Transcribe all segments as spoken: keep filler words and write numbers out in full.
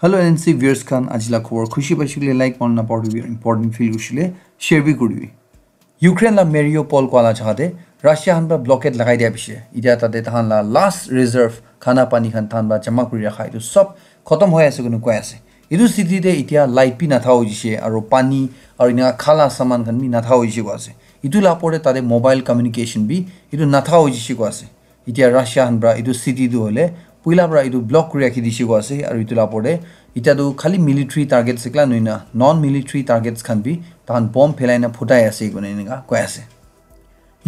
Hello N N C viewers khan, aji la khobor khushi paishe koile like, mon na pauribi, important feel kurishe koile share bi kuribi. Ukraine la Mariupol koa la jaga te Russia khan pra blockade lagai dia piche, itia tate tahan la last reserve khana pani khan tahan pra jama kuri rakha etu sob khotom hoi ase koina koi ase. Etu city te itia light bi natha hoi jishe, aro pani aro ena khala saman khan bi natha hoi jishe koi ase. Etu la opor te tate mobile communication bi etu natha hoi jishe koi ase. Itia Russia khan pra etu city tu hoile puila pra etu block kuri rakhi dishe koi ase, aro etu la opor te itia tu khali military targets ekla nohoina non military targets khan bi tahan bomb phelai na phutai ase koina eneka koi ase.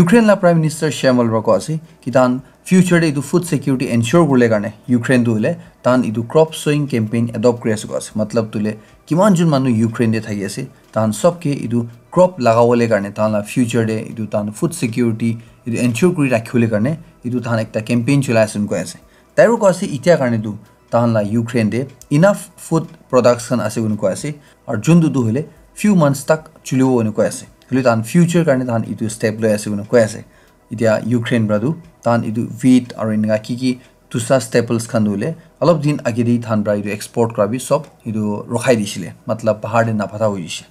Ukraine la Prime Minister Shyam Malhotra koi ase ki tahan future te etu food security ensure kurle karne Ukraine tu hoile tahan etu crop sowing campaign adopt kuri ase koi ase. Matlab tu hoile kiman jun manu Ukraine te thaki ase, tahan sob ke etu crop lagawole karne, tahan la future te etu tahan food security etu ensure kuri rakhibole karne etu tahan ekta campaign cholai ase koi ase. Tai koi ase itia karne tu tahan la Ukraine te enough food products khan ase koina koi ase, aru juntu tu hoile few months tak chulibo koina koi ase. Hoile tahan future karne tahan etu step loi ase koina koi ase. Itia Ukraine pra tu tahan etu wheat aru eneka ki ki dusra staples khan tu hoile alop din age te tahan pra etu export kura bi sob etu rokhai dishile, matlab bahar te naphata hoi jishe.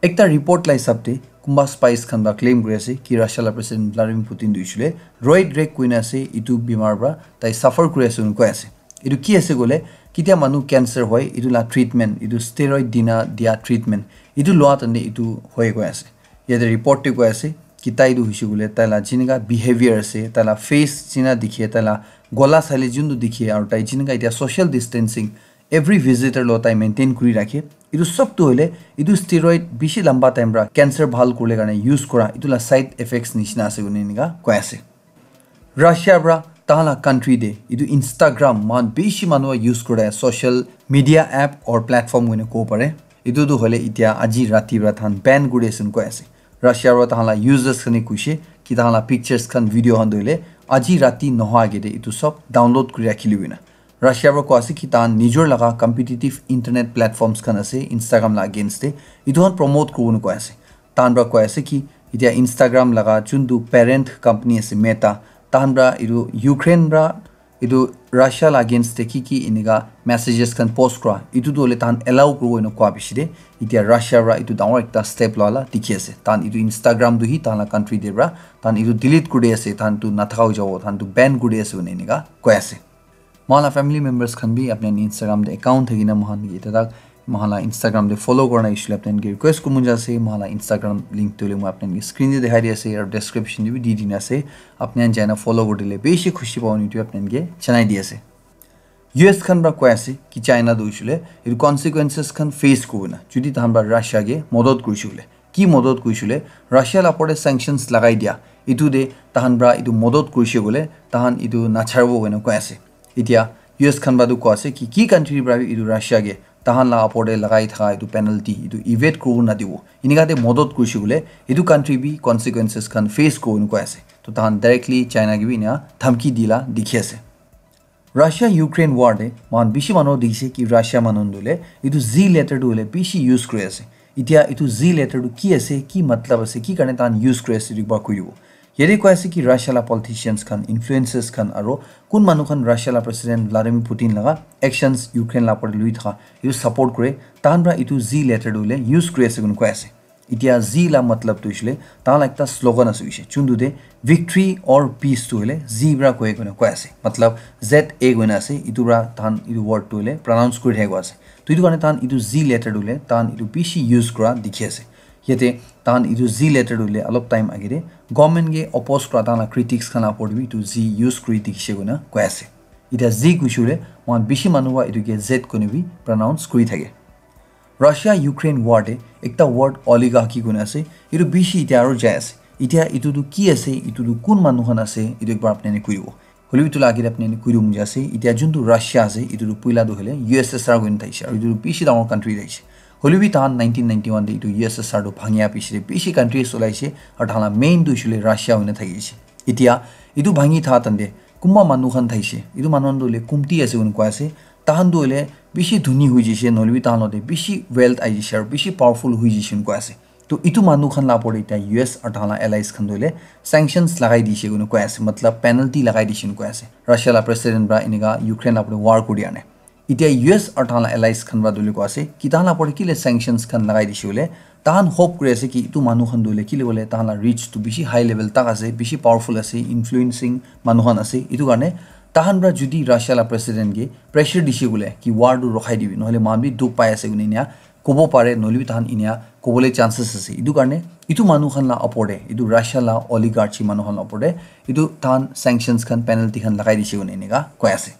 Ekta report la hisab te kunba spies khan pra claim kuri ase ki Russia la President Vladimir Putin tu hoishe koile Roy Greg koina ase, etu bimar pra tai suffer kuri ase koina koi ase. Etu ki ase koile, kitia manu cancer hoi, etu la treatment, etu steroid dina dia treatment, etu lua tande etu hoi koi ase. Yate report te koi ase ki tai tu hoishe koile tai la jineka behavior ase, tai la face jina dikhe, tai la gola saile juntu dikhe, aru tai jineka itia social distancing every visitor lo tai maintain kuri rakhe. Etu sob tu hoile etu steroid bishi lamba time pra cancer bhal kurle karne use kura, etu la side effects nishina ase koina eneka koi ase. Russia pra tahan la country te etu Instagram mohan bishi manu use kura social media app or platform koina kobo pare. Etu tu hoile itia aji rati pra tahan ban kuri ase koi ase. Russia pra tahan la users khan e kuishe ki tahan la pictures khan, video khan tu hoile aji rati nohoa age te etu sob download kuri rakhile koina. Russia pra koi ase ki tahan nijor laga competitive internet platforms khan ase Instagram la against te, etu khan promote kuribo na koi ase. Tahan pra koi ase ki itia Instagram laga juntu parent company ase Meta, tahan pra etu Ukraine pra etu Russia la against te ki ki eneka messages khan post kura, etu tu hoile tahan allow kuribo ena koa piche te itia Russia pra etu dangor ekta step loa la dikhi ase. Tahan etu Instagram tu hi tahan la country te pra tahan etu delete kuri di ase, tahan tu nathaka hoi jabo, tahan tu ban kuri di ase koina eneka koi ase. Mohan la family members khan bi apni khan Instagram te account thakina mohan ke ita tak mohan la Instagram te follow kurina issue le apni khan ke request kuribo mon jai ase. Mohan la Instagram link tu hoile moi apni khan ke screen te dikhai di ase aru description te bi di dina ase. Apni khan jaina follow kuri dile bishi khushi pabo etu apni khan ke janai di ase. U S khan pra koi ase ki China tu hoishe koile etu consequences khan face kuribo na jodi tahan pra Russia ke modot kurishe koile. Ki modot kurishe koile, Russia la opor te sanctions lagai dia, etu te tahan pra etu modot kurishe koile tahan etu nacharibo koina koi ase. Itia U S khan pra tu koi ase ki ki country pra bi etu Russia ke tahan la opor te lagai thaka etu penalty etu evade kuribo nadibo, eneka te modot kurishe koile etu country bi consequences khan face kuribo koi ase. To tahan directly China ke bi ena dhamki dila dikhi ase. Russia Ukraine war te mohan bishi manu dikhi ase ki Russia manu tu hoile etu Z letter tu hoile bishi use kuri ase. Itia etu Z letter tu ki ase, ki matlab ase, ki karne tahan use kuri ase etu ekbar koi dibo. Yate koi ase ki Russia la politicians khan, influencers khan aru kun manu khan Russia la President Vladimir Putin laga actions Ukraine la opor te lui thaka etu support kure, tahan pra etu Z letter tu hoile use kuri ase koina koi ase. Itia Z la matlab tu hoishe koile tahan la ekta slogan ase hoishe, juntu te victory or peace tu hoile Z pra koi koina koi ase. Matlab Z A koina ase, etu pra tahan etu word tu hoile pronounce kuri thaki koi ase. To etu karne tahan etu Z letter tu hoile tahan etu bishi use kura dikhi ase. Yate tahan etu Z letter tu hoile alop time age te government ke oppose kura tahan la critics khan la opor te bi etu Z use kuri dikhi she koina koi ase. Itia Z kuishe koile mohan bishi manu pra etu ke Z koina bi pronounce kuri thake. Russia Ukraine war te ekta word oligarchy koina ase, etu bishi itia aru jai ase. Itia etu tu ki ase, etu tu kun manu khan ase, etu ekbar apni khan koi dibo. Hoile bi etu la age te apni khan koi dibo mon jai ase, itia juntu Russia ase, etu tu puila tu hoile U S S R koina thaishe, aru etu tu bishi dangor country thaishe. Hoile bi tahan nineteen ninety-one te etu U S S R tu bhangia piche te bishi countries olaishe, aru tahan la main tu hoishe koile Russia hoina thaki ase. Itia etu bhangi tha tande kunba manu khan thaishe, etu manu khan tu hoile kumti ase koina koi ase, tahan tu hoile bishi dhuni hoi jishe, nohoile bi tahan logote bishi wealth ahi jishe aru bishi powerful hoi jishe koina koi ase. To etu manu khan la opor te itia U S aru tahan la allies khan tu hoile sanctions lagai dishe koina koi ase, matlab penalty lagai dishe koina koi ase. Russia la president pra eneka Ukraine la opor te war kuri ane. Itya U S aru tahan la allies khan para duli koi ase ki tahan la opor te kile sanctions khan lagai dise hoile, tahan hope kuri ase ki itu manu khan duli kile hoile tahan la reach tu bishi high level tak ase, bishi powerful ase, influencing manu khan ase. Itu karne tahan para jodi Russia la president ke pressure dise hoile ki war tu rokhai dibi, nohole mohan bi dukh pai ase kuni enia kobo pare, nohole bi tahan inia kobole chances ase. Itu karne itu manu khan la opor te, itu Russia la oligarchy manu khan la opor te itu tahan sanctions khan, penalty khan lagai dise kuni enika koi ase.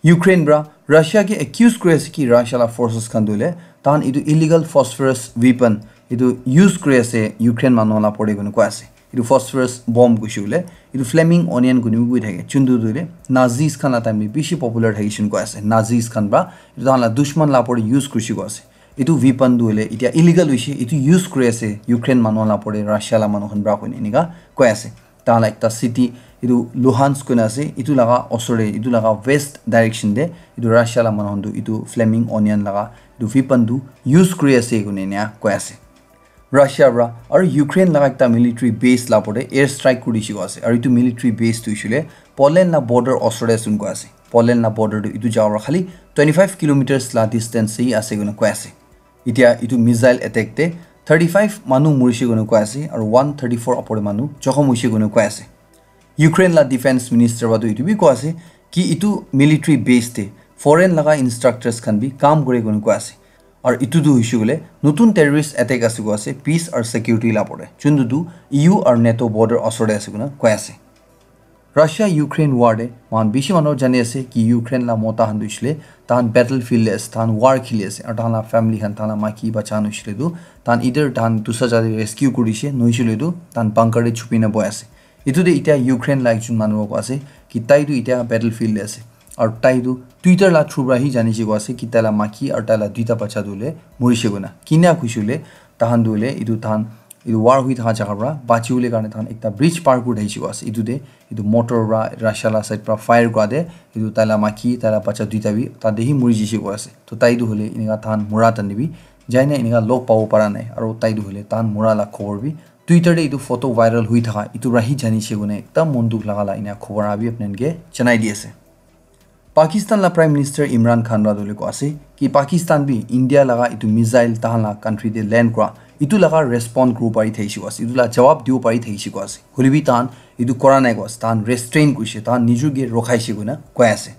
Ukraine para Russia ke accuse kuri ase ki Russia la forces khan tu hoile tahan itu illegal phosphorus weapon itu use kuri ase Ukraine manu la opor te koi ase. Itu phosphorus bomb kuishe hoile itu flaming onion kuni bi koi thake, chuntu tu hoile Nazis khan la time te bishi popular thakishe koi ase. Nazis khan para itu tahan la dushman la opor te use kurishe koi ase. Itu weapon tu hoile itya illegal hoishe, itu use kuri ase Ukraine manu la opor te Russia la manu khan para koi enika koi ase. Tahan la ekta city, itu Luhansk koi na ase, itu laga osor te, itu laga west direction te itu Russia la manu khan tu itu flaming onion laga itu weapon tu use kuri ase kuni enia koi ase. Russia para aru Ukraine laga ekta military base la opor te air strike kuri dise koi ase, aru itu military base tu hoishe hoile Poland la border osor te ase koi ase. Poland la border tu itu jaga para khali twenty five kilometers la distance te ase kuni koi ase. Itya itu missile attack te thirty five manu murishe kuni koi ase aru one thirty four opor te manu jokhom hoishe kuni koi ase. Ukraine la defense minister para tu itu bi koi ase ki itu military base te foreign laga instructors khan bi kam kure kuni koi ase. Aru itu tu hoishe hoile notun terrorist attack ase koi ase peace aru security la opor te, chuntu tu E U aru NATO border osor te ase kuni koi ase. Russia Ukraine war te mohan bishi manu jani ase ki Ukraine la mota khan tu hoishe hoile tahan battlefield te ase, tahan war kheli ase, aru tahan la family khan, tahan la maiki bacha khan hoishe hoile tu tahan either tahan dusra jaga te rescue kuri dishe, nohoishe hoile tu tahan bunker te chupi na bohi ase. Itu te itya Ukraine la ekjon manu koi ase ki tai tu itya battlefield te ase, aru tai tu Twitter la through para hi janishe koi ase ki tai la maiki aru tai la duita bacha tu hoile murishe koi na. Kinia kuishe hoile tahan tu hoile itu tahan itu war hui thaka jaga para bachi bole karne tahan ekta bridge par kuri thakishe koi ase. Itu te itu mortar para Russia la side para fire kura te itu tai la maiki, tai la bacha duita bi tate hi muri jishe koi ase. To tai tu hoile enika tahan mura tani bi jai na enika log pabo para nai, aru tai tu hoile tahan mura la khobor bi Twitter te itu photo viral hui thaka itu para hi janishe koi na ekdam mon dukh laga la enia khobor abi apni khan ke janai di ase. Pakistan la Prime Minister Imran Khan para tu hoile koi ase ki Pakistan bi India laga itu missile tahan la country te land kura itu laga respond kuri pari thakishe koi ase, itu la jawab dibo pari thakishe koi ase. Hoile bi tahan itu kora nai koi ase, tahan restrain kurishe, tahan nijor ke rokhaishe koi na koi ase.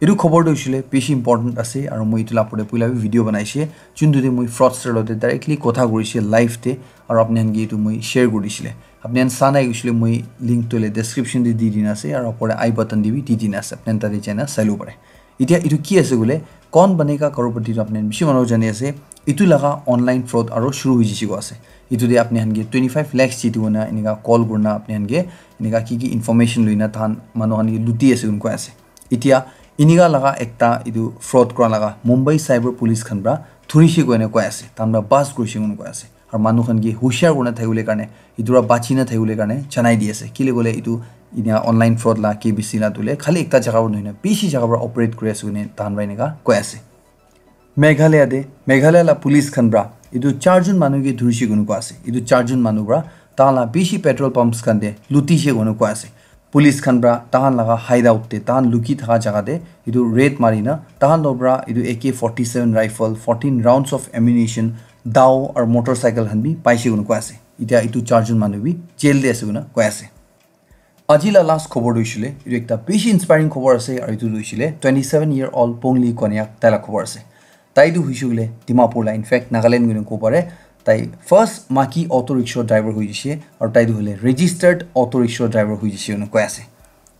Itu khobor tu hoishe hoile bishi important ase aru moi itu la opor te puila bi video banaishe, chuntu te moi fraudster lo te directly kotha kurishe live te, aru apni khan ke itu moi share kuri dishile. Apni khan sa nai kuishe hoile moi link tu hoile description te di dina ase aru opor te I button te bi di dina ase, apni khan tate jai na sai labo pare. Itya itu ki ase koile, Kaun Banega Crorepati tu apni khan bishi manu jani ase, itu laga online fraud aru shuru hui jishe koi ase. Itu te apni khan ke twenty five lakhs jiti koi na enika call kuri na apni khan ke enika ki ki information loi na tahan manu khan ke luti ase koi ase. Itya enika laga ekta itu fraud kura laga Mumbai Cyber Police khan para dhurishe koi na koi ase, tahan para bust kurishe koi na koi ase. Aru manu khan ke hushiar kuri na thakibole karne, itu para bachi na thakibole karne janai di ase. Kile koile itu inia online fraud la K B C la tu hoile khali ekta jaga para nohoi na bishi jaga para operate kuri ase koi na tahan para enika koi ase. Meghalaya te, Meghalaya la police khan para itu charjon manu ke dhurishe koi na koi ase. Itu charjon manu para tahan la bishi petrol pumps khan te lutishe koi na koi ase. Police khan para tahan laga hideout te, tahan luki thaka jaga te itu raid mari na tahan lo para itu A K forty seven rifle, fourteen rounds of ammunition, dao aru motorcycle khan bi paishe koi na koi ase. Itya itu charjon manu bi jail te ase koi na koi ase. Aji la last khobor tu hoishe hoile, itu ekta bishi inspiring khobor ase, aru itu tu hoishe hoile twenty seven year old Pongli Konyak tai la khobor ase. Tai tu hoishe hoile Dimapur la, in fact Nagaland koi na kobo pare. Tai first maki auto rickshaw driver hui jaishe, aru tai tu hoile registered auto rickshaw driver hui jaishe koi na koi ase.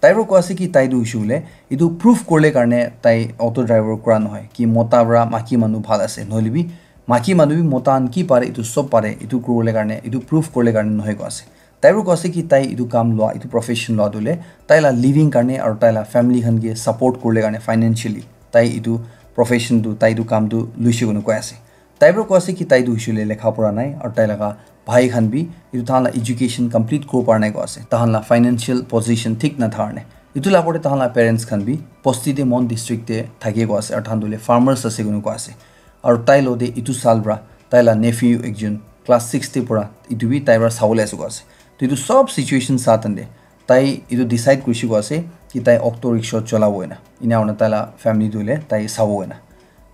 Tai para koi ase ki tai tu hoishe hoile itu proof kuribole karne tai auto driver kura nohoi ki mota para maki manu bhal ase, nohole bi maki manu bi mota khan ki pare itu sob pare, itu kuribole karne, itu proof kuribole karne nohoi koi ase. Tai para koi ase ki tai itu kam lua, itu profession lua tu hoile tai la living karne aru tai la family khan ke support kuribole karne financially tai itu profession tu, tai itu kam tu luishe koi na koi ase. Tai para koi ase ki tai tu hoishe hoile lekha pora nai aru tai laga bhai khan bi itu tahan la education complete kuribo para nai koi ase. Tahan la financial position thik nathaka karne. Itu la opor te tahan la parents khan bi bosti te, Mon district te thake koi ase aru tahan tu hoile farmers ase koi na koi ase. Aru tai lo te itu saal para tai la nephew ekjon class six te pora, itu bi tai para sabole ase koi ase. To itu sob situation sa tan te tai itu decide kurishe koi ase ki tai auto rickshaw cholabo ena. ena hoina tai la family tu hoile tai sabo hoina.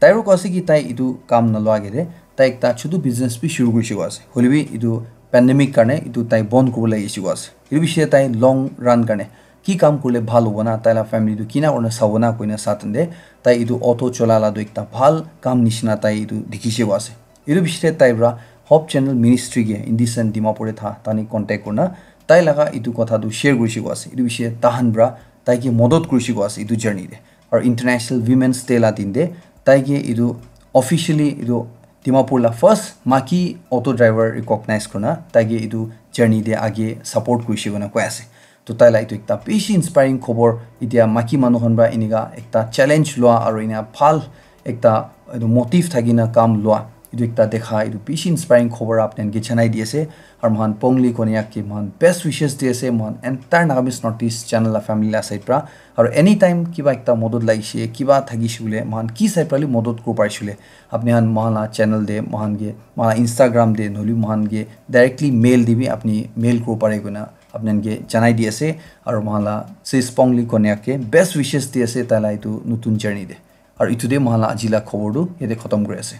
Tai aro koise ki tai etu kam nalua age te tai ekta chutu business bi shuru kurise koa ase. Hoile bi etu pandemic karne etu tai bon kuribo lagise koa ase. Etu bishi tai long run karne ki kam kurile bhal hobo na, tai la family tu kina kurina sabo na koina sa tande tai etu auto chola la tu ekta bhal kam nishina tai etu dikhise koa ase. Etu bishi tai pra Hope Channel Ministry ke Indecent Dimapur te tha tani contact kurina tai laga etu kotha tu share kurise koa ase. Etu bishi tahan pra tai ke modot kurise koa ase etu journey te. Aru International Women's Day la din te tai ke etu officially etu Dimapur la first maki auto driver recognize kurina tai ke etu journey te age support kurise koina koi ase. To tai la etu ekta bishi inspiring khobor, etia maki manu khan pra enika ekta challenge lua aru ena bhal ekta etu motive thakina kam lua, etu ekta dekha, etu bishi inspiring khobor apni khan ke janai di ase. Aru mohan Pongli Konyak ke mohan best wishes di ase, mohan entire Nagamese Northeast channel la family la side pra. Aru anytime kiba ekta modot lagise, kiba thakise koile, mohan ki side pra li modot kuribo parise koile, apni khan mohan la channel te, mohan ke, mohan la Instagram te, nohole mohan ke directly mail te bi apni mail kuribo pare koina apni khan ke janai di ase. Aru mohan la sis Pongli Konyak ke best wishes di ase tai la etu notun journey te. Aru etu te mohan la aji la khobor tu yate khatam kuri ase.